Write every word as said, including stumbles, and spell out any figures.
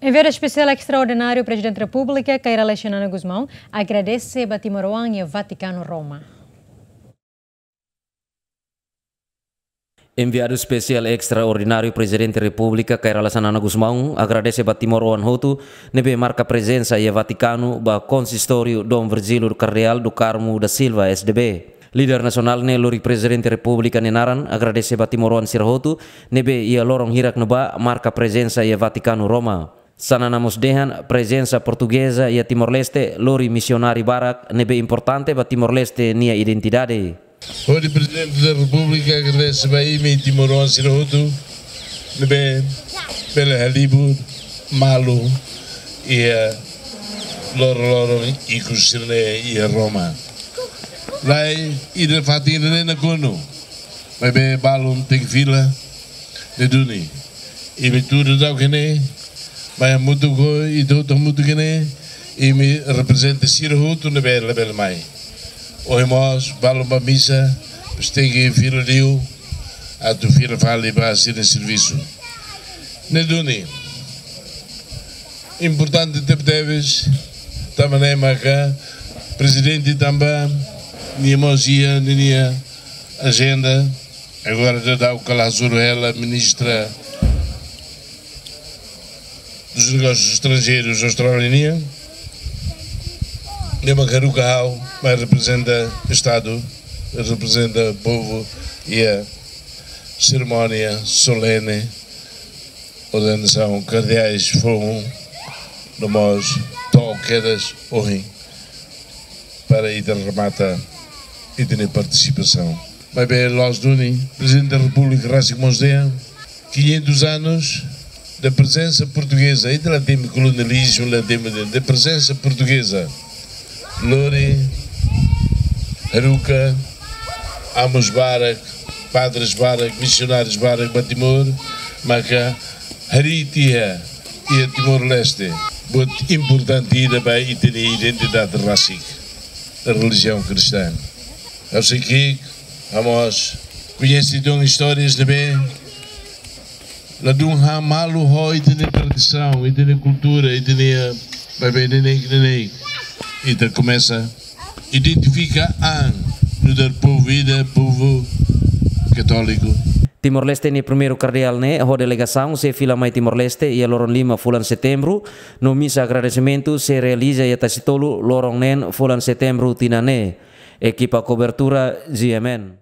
Enviadu Espesiál Estraordináriu Prezidente Repúblika, Kay Rala Xanana Gusmão, agradese ba timoroan iha Vatikanu, Roma. Enviadu Espesiál Estraordináriu Prezidente Repúblika, Kay Rala Xanana Gusmão, agradese ba timoroan hotu ne'ebé marka prezensa iha Vatikanu ba konsistóriu Dom Virgílio Kardeál do Carmo da Silva, S D B. Líder nasionál ne'e lori Prezidente Repúblika nia naran agradese ba timoroan sira hotu ne'ebé iha loron hirak ne'ebá marka prezensa iha Vatikanu, Roma. Xanana mós dehan prezensa portugeza iha Timor-Leste lori misionáriu barak ne'ebé importante ba Timor-Leste nia identidade. Hodi Prezidente da Repúblika agradese ba imi timoroan sira hotu ne'ebé bele halibur malu iha loroloron ikus sira-ne'e iha Roma. Lae, ida fatin ida-ne'e nakonu, maibé balun tenke fila, ne'e duni. Imi tuur daudauk iha ne'e, mai hamutuk ho ita hotu hamutuk iha ne'e, imi reprezenta sira hotu ne'ebé labele mai. Ohin mós balun bá misa, depois tenke fila liu, atu fila fali ba sira-nia servisu. Ne'e duni. Importante tebetebes, tanba ne'e maka Prezidente tanba nia mós iha ninia ajenda, agora daudauk kala zuru ela Ministra dos Negócios Estrangeiros Austrália nian, ne'e maka haruka ha'u mai reprezenta Estadu, reprezenta povu iha serimónia solene ordenasaun kardeais foun no mós to'o kedas ohin para ita remata ita-nia partisipasaun. Maibé loos duni, Prezidente da Repúblika rasik mós dehan, quinhentos anos da presença portuguesa, ita la temi kolonializmu, la temi, da presença portuguesa. Lori haruka amus barak, padres barak, misionárius barak ba Timor, maka harii tiha iha Timor-Leste buat importante ida ba ita-nia identidade rasik, relijiaun kristaun. Ha'u sei ki'ik, ha'u mós koñese tan istórias ne'ebé ladún han malu ho ita-nia tradisaun, ita-nia kultura, ita-nia, maibé neineik, neineik ita komesa identifika an nu'udar povu ida, povu katóliku. Timor-Leste nia primeiru kardeál ne'e ho delegasaun sei fila mai Timor-Leste iha loron lima fulan Setembru, no misa agradesimentu sei realiza iha Tasitolu loron neen fulan Setembru tinan ne'e. Ekipa kobertura G M N.